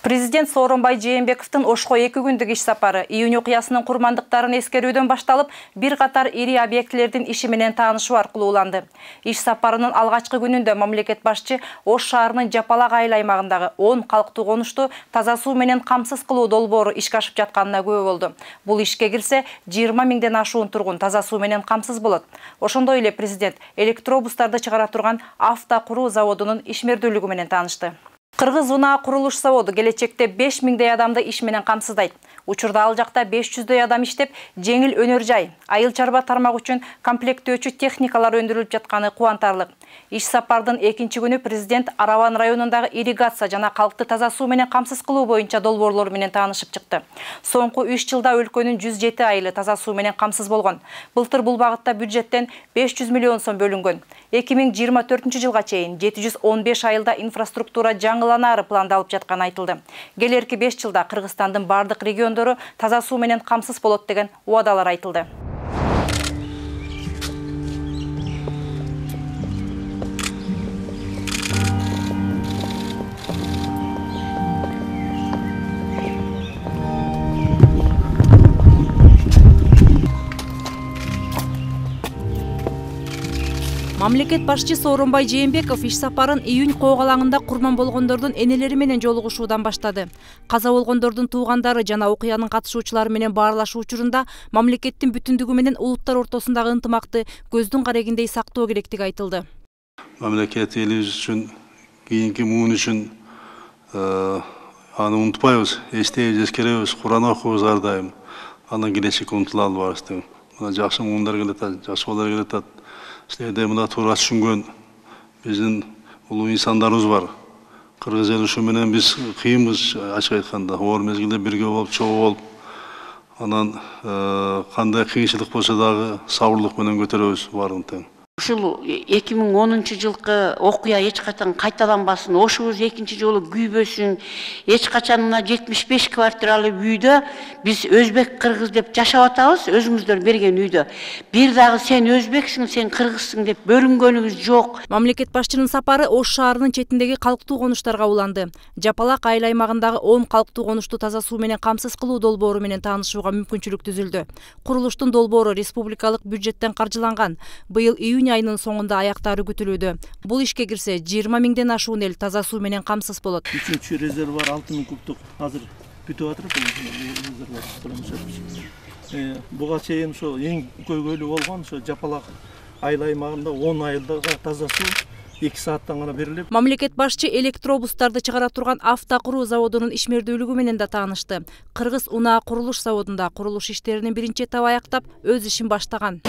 Президент Сооронбай Жээнбековдун Ошко 2 күндүк иш сапары июнь окуясынын курмандыктарын эскерүүдөн башталып, бир катар ири объектилердин иши менен таанышуу аркылуу уланды. Иш сапарынын алгачкы күнүндө мамлекет башчы Ош шаарынын Жапалак айыл аймагындагы 10 калктуу конушту таза суу менен камсыз кылуу долбоору ишке ашып жатканына күбө болду. Бул ишке кирсе, 20 миңден ашуун тургун таза суу менен камсыз болот. Ошондой эле президент электробустарды чыгара турган автокуруу заводунун ишмердүүлүгү менен таанышты. Кыргыз унаа курулуш заводу келечекте 5 миңдей адамды иш менен камсыздайт. Учурда ал жакта 500дөй адам иштеп, жеңил өнөр жай, айыл чарба тармак үчүн комплектөөчү техникалар өндүрүлүп жатканы кубантарлык. Иш сапардын 2-чи күнү президент Араван районундагы ирригация жана калкты таза суу менен камсыз кылуу боюнча долбоорлор менен таанышып чыкты. Соңку 3 жылда өлкөнүн 107 айылы таза суу менен камсыз болгон. Былтыр бул багытта бюджеттен 500 миллион сом бөлүнгөн. 2024-жылга чейин 715 айылда инфраструктура жаңыланаары пландалып жатканы айтылды. Келерки 5 жылда Кыргызстандын бардык региондору таза суу менен камсыз болот деген убадалар айтылды. Мамлекет башчы Сооронбай Жээнбеков иш сапарын июнь коогалаңында курман болгондордун энелери менен жолугушуудан баштады. Каза болгондордун туугандары жана окуянын катышуучулары менен баарлашуу учурунда мамлекеттин бүтүндүгү менен улуттар ортосундагы ынтымакты көздүн карегиндей сактоо керектиги айтылды. Мамлекет элибиз үчүн, кийинки муун үчүн аны унутпайбыз, эстейбиз, эскеребиз, Куран окуйбуз ар дайым. Андан келечекке умтула албайбыз деп. Мына жакшы муундар келатат, жакшы балдар келатат. Силерде мына туура түшүнгөн биздин улуу инсандарыбыз бар. Кыргыз эли ушу менен биз кыйынбыз, ачык айтканда. Оор мезгилде бирге болуп, чогуу болуп, анан кандай кыйынчылык болсо дагы сабырлык менен көтөрөбүз баарын тең. Ушул 2010-жылкы окуя эч качан кайталанбасын, ошубуз экинчи жолу күйбөсүн. Эч качан мына 75 квартиралуу үйдө биз өзбек кыргыз деп жашап атабыз, өзүңүздөр берген үйдө. Бир дагы сен өзбексиң, сен кыргызсың деп бөлүнгөнүбүз жок. Мамлекет башчынын сапары Ош шаарынын четиндеги калктуу конуштарга уланды. Жапалак айыл аймагындагы 10 калктуу конушту таза суу менен камсыз кылуу долбоору менен таанышууга мүмкүнчүлүк түзүлдү. Курулуштун долбоору республикалык бюджеттен каржыланган. Быйыл июнь айынын соңунда аяктары күтүлүүдө. Бул ишке кирсе, 20 миңден ашуун эл таза суу менен камсыз болот. 3-чү резервуар 6000 кубтук азыр бүтүп атыр. Буга чейин ошо эң көйгөйлүү болгон ошо Жапалак айыл аймагында 10 айылдага таза суу 2 сааттан гана берилет. Мамлекет башчы электробустарды чыгара турган автокуруу заводунун ишмердүүлүгү менен да таанышты. Кыргыз унаа курулуш заводунда курулуш иштеринин биринчи этабы аяктап, өз ишин баштаган.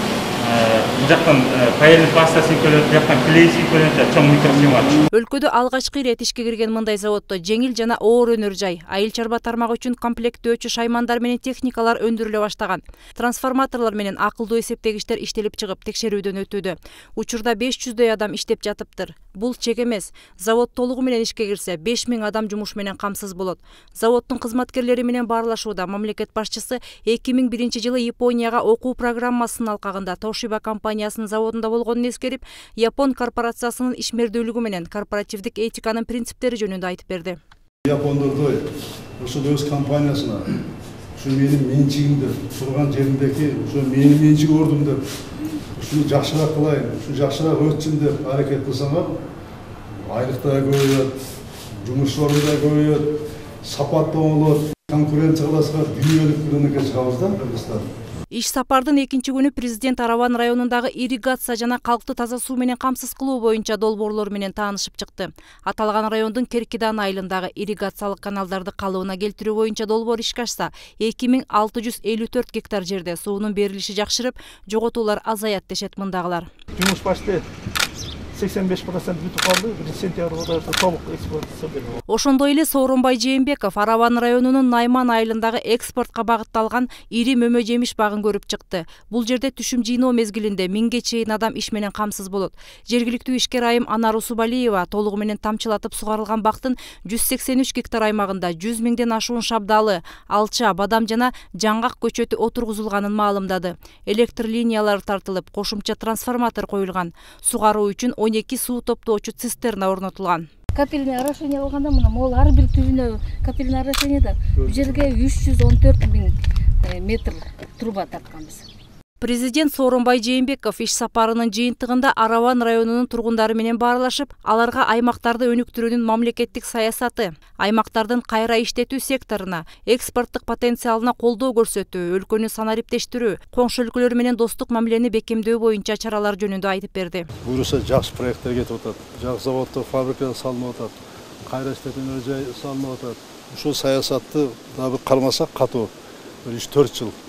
Жактан паяльный паста сыйкөлөт, жактан клей сыйкөлөт, чоң микросхема. Өлкөдө алгачкы ирет ишке кирген мындай заводдо жеңил жана оор өнөр жай, айыл чарба тармагы үчүн комплектөөчү шаймандар менен техникалар өндүрүлө баштаган. Трансформаторлор менен акылдуу эсептегичтер иштелип чыгып, текшерүүдөн өтүүдө. Учурда 500дөй адам иштеп жатыптыр. Бул чек эмес. Завод толугу менен ишке кирсе, 5000 адам жумуш менен камсыз болот. Заводдун кызматкерлери менен баарлашууда мамлекет башчысы 2001-жылы Японияга окуу программасынын алкагында Toshiba компаниясынын заводунда болгонун эскерип, Япон корпорациясынын ишмердүүлүгү менен корпоративдик этиканын принциптери жөнүндө айтып берди. Япондордой ошол өз компаниясына ушу менин менчигимде турган жеримдеки ушу менин менчиг ордум деп ушуну жакшыраак кылайын, ушу жакшыраак өтсүн деп аракет кылсаңар, айлык да көбөйөт, жумуш орну да көбөйөт, сапат да болот, конкуренция кыласыздар, дүйнөлүк рынокко чыгабыз да Кыргызстан. Иш сапардын 2-чи күнү президент Араван районундагы ирригация жана калкты таза суу менен камсыз кылуу боюнча долбоорлор менен таанышып чыкты. Аталган райондун Керкидан айылындагы ирригациялык каналдарды калыбына келтирүү боюнча долбоор ишке ашса, 2654 гектар жерде суунун берилиши жакшырып, жоготуулар азаят дешет мындагылар. Жумуш башты 85% бүтүп калды, сентябрда толук эксплуатация берилди. Ошондой эле Сооронбай Жээнбеков Араван районунун Найман айылындагы экспортко багытталган ири мөмө жемиш багын көрүп чыкты. Бул жерде түшүм жыйноо мезгилинде 1000ге чейин адам иш менен камсыз болот. Жергиликтүү ишкер айым Анар Усубалиева толугу менен тамчылатып сугарылган бактын 183 гектар аймагында 100 миңден ашуун шабдалы, алча, бадам жана жаңгак көчөтү отургузулганын маалымдады. Электр линиялары тартылып, кошумча трансформатор коюлган. Сугаруу үчүн 12 суу топтоочу цистерна орнотулган. капельный орошение алганда мына могул ар бир түбүнө капельный орошениеда бул жерге 314 000 метр труба тартканбыз. Президент Сооронбай Жээнбеков иш сапарынын жыйынтыгында Араван районунун тургундары менен баарлашып, аларга аймактарды өнүктүрүүнүн мамлекеттик саясаты, аймактардын кайра иштетүү секторуна, экспорттук потенциалына колдоо көрсөтүү, өлкөнү санариптештирүү, коңшу өлкөлөр менен достук мамилени бекемдөө боюнча чаралар жөнүндө айтып берди. Буюрса жакшы проекттер кетип атат, жакшы заводдор, фабрикалар салынып атат, кайра иштетүү жай салынып атат. Ушул саясатты дагы кармасак катуу 3-4 жыл.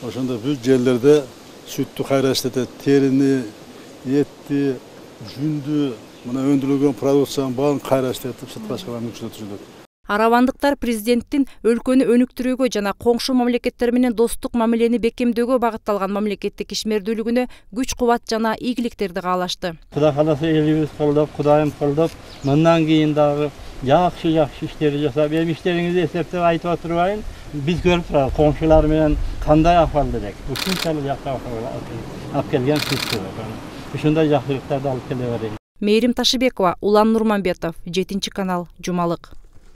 Ошондо бүт жерлерде сүттү кайра иштетет, терини, этти, жүндү, мына өндүрүлгөн продукциянын баарын кайра иштетип сыртка чыгарган мүмкүнчүлүк түзүлөт. Аравандыктар президенттин өлкөнү өнүктүрүүгө жана коңшу мамлекеттер менен достук мамилени бекемдөөгө багытталган мамлекеттик ишмердүүлүгүнө күч-кубат жана ийгиликтерди каалашты. Кудай кааласа элибиз колдоп, Кудайым колдоп, мындан кийин дагы жакшы иштерди жасап, эми иштериңизди эсептеп айтып отурбайын. Биз көрүп турабыз, коңшулар менен кандай акыбалда элек. Ушунчалык жакшы акыбал алып келген сиз. Ушундай жакшылыктарды алып келе берели. Мээрим Ташыбекова, Улан Нурманбетов, 7 канал, Жумалык.